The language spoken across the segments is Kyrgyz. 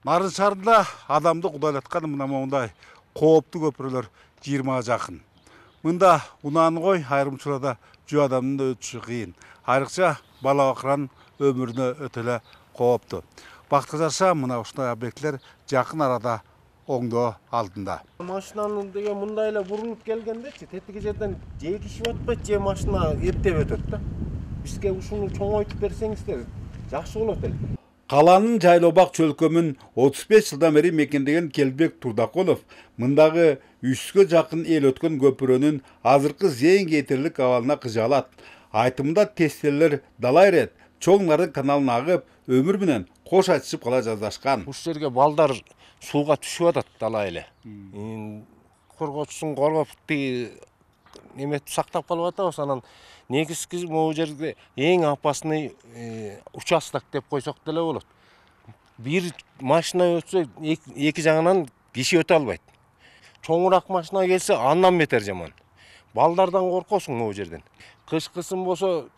Нарын шаарында адамды кудайлаткан мындай кооптуу көпүрөлөр 20 жакын. Мында унааны кой, айрымчыларда жөө адамдын өтүшү кыйын. Айрыкча бала бакыранын өмүрүнө өтө эле кооптуу. Бактка жараша мына ушундай объекттер жакын арада оңдоо алдында. Машинаны деген мындай эле бурулуп келгендечи, тетиги жерден же кишип атпайт, же машина эптеп өтөт да. Бизге ушуну чоңойтуп берсеңиздер жакшы болот эле. Каланын Жайлообак чөлкөмүн 35 жылдан бери мекендеген Келбек Турдакулов мындагы 300гө жакын эл өткөн көпүрөнүн азыркы зээн кетирлик абалына кыжаалат. Айтымында тестелер дала ирет, чоң Нарын каналына агып, өмүр менен кош айтышып кала жаздашкан. Ушул жерге балдар сууга түшүп атат дала эле. Коргоочусун коргоп неметип сактап калып атабыз. Анан негизги могу жерде эң опасный участок деп койсок деле болот. Бир машина өтсө эки жагынан киши өтө албайт. Чоңураак машина келсе андан бетер жаман. Балдардан коркосуң могу жерден. Кышкысын болсо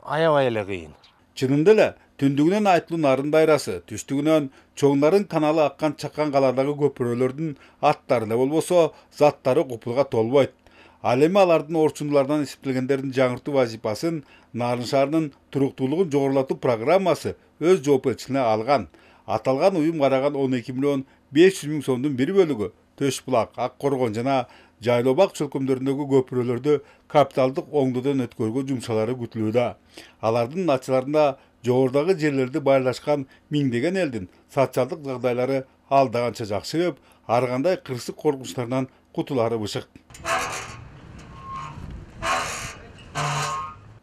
аябай эле кыйын. Чынында эле түндүгүнөн айтылуу Нарын дайрасы, түштүгүнөн чоң Нарын каналы аккан чакан каладагы көпүрөлөрдүн аттары эле болбосо заттары купулга толбойт. Ал эми алардын орчундулардан эсептелгендердин жаңыртуу вазипасын Нарын шаарынын туруктуулугун жогорулатуу программасы өз жоопкерчилигине алган. Аталган уюм караган 12 миллион 500 миң сомдун бир бөлүгү Төш булак, Ак Коргон жана Жайлообак чөлкөмдөрүндөгү көпүрөлөрдү капиталдык оңдоодон өткөрүүгө жумшалары күтүлүүдө. Алардын натыйжаларында жогорудагы жерлерди байлашкан миңдеген элдин социалдык жагдайлары алда канча жакшырып, ар кандай кырсык коркунучтарынан кутулары бышык.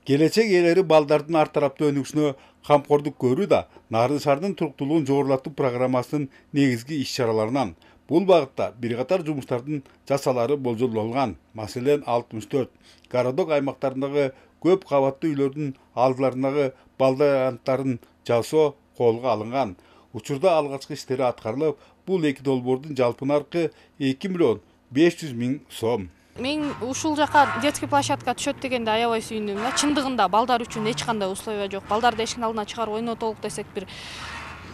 Келечек ээлери балдардын ар тараптуу өнүгүшүнө камкордук көрүү да Нарын шаарынын туруктуулугун жогорулатуу программасынын негизги иш-чараларынан. Бул багытта бир катар жумуштардын жасалары болжолдолгон. Маселен, 64 городок аймактарындагы көп кабаттуу үйлөрдүн алдыларындагы балдаянттарын жасоо колго алынган. Учурда алгачкы иштери аткарылып, бул эки долбоордун жалпы наркы 2 миллион 500 миң сом. Мен ушул жака детский площадка түшөт дегенде аябай сүйүндүм. Чындыгында балдар үчүн эч кандай условия жок. Балдарды эшиктин алдына чыгарып ойнотолук десек бир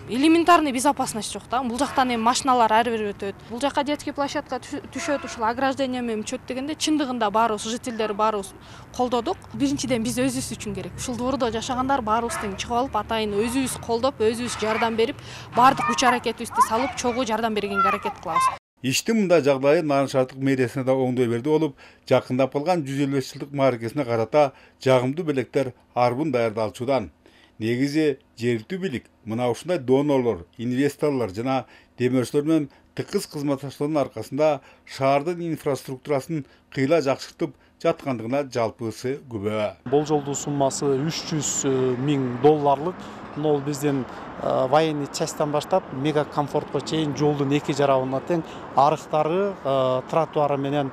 элементарный безопасность жок да. Бул жактан эми машиналар ар бир өтөт. Бул жака детский площадка түшөт, ушул ограждение менен түшөт дегенде чындыгында баарыбыз жителдер баарыбыз колдодук. Биринчиден биз өзүбүз үчүн керек. Ушул двордо жашагандар баарыбыз тең чыгып алып, атайын өзүбүз колдоп, өзүбүз жардам берип, баардык күч аракетибизди салып, чогуу жардам бергенге аракет кылабыз. Иштин мындай жагдайы Нарын шаардык мэриясына да оңдой берди болуп, жакындап калган 155 жылдык мааракесине карата жагымдуу белектер арбын даярдалчудан. Негизи жергиликтүү бийлик мына ушундай донорлор, инвесторлор жана демөөрчүлөр менен тыкыз кызматташтыктын аркасында шаардын инфраструктурасын кыйла жакшыртып жаткандыгына жалпысы күбө. Болжолдуу суммасы 300 миң долларлык. Ол биздин военный частьтан баштап мега комфортко чейин жолдун эки жарабына тең арыктары, тротуары менен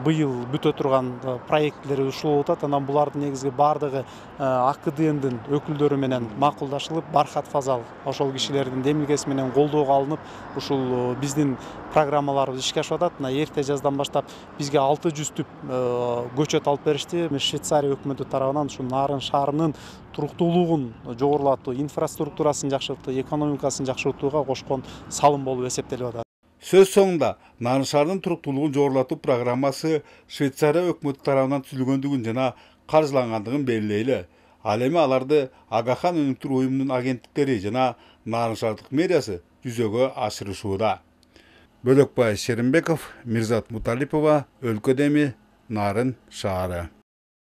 быйыл бүтө турган проектлери ушул болуп атат. Анан булардын негизги баардыгы АКДНдин өкүлдөрү менен макулдашылып, Бархат Фазал ошол кишилердин демилгеси менен колдоого алынып, ушул биздин программаларыбыз ишке ашып атат. Мына эрте жаздан баштап бизге 600 түп көчөт алып беришти. Швейцария өкмөтү тарабынан ушу Нарын шаарынын туруктуулугун жогорулатуу, инфраструктурасын жакшыртуу, экономикасын жакшыртууга кошкон салым болуп эсептелип атат. Сөз соңунда Нарын шаарынын туруктуулугун жогорулатуу программасы Швейцария өкмөтү тарабынан түзүлгөндүгүн жана каржылангандыгын белгилейли. Ал эми аларды Агахан өнүктүрүү уюмунун агенттиктери жана Нарын шаардык мэриясы жүзөгө ашырышууда. Бөлөкбай Шеримбеков, Мирзат Муталипова, Өлкөдө эми Нарын шаары.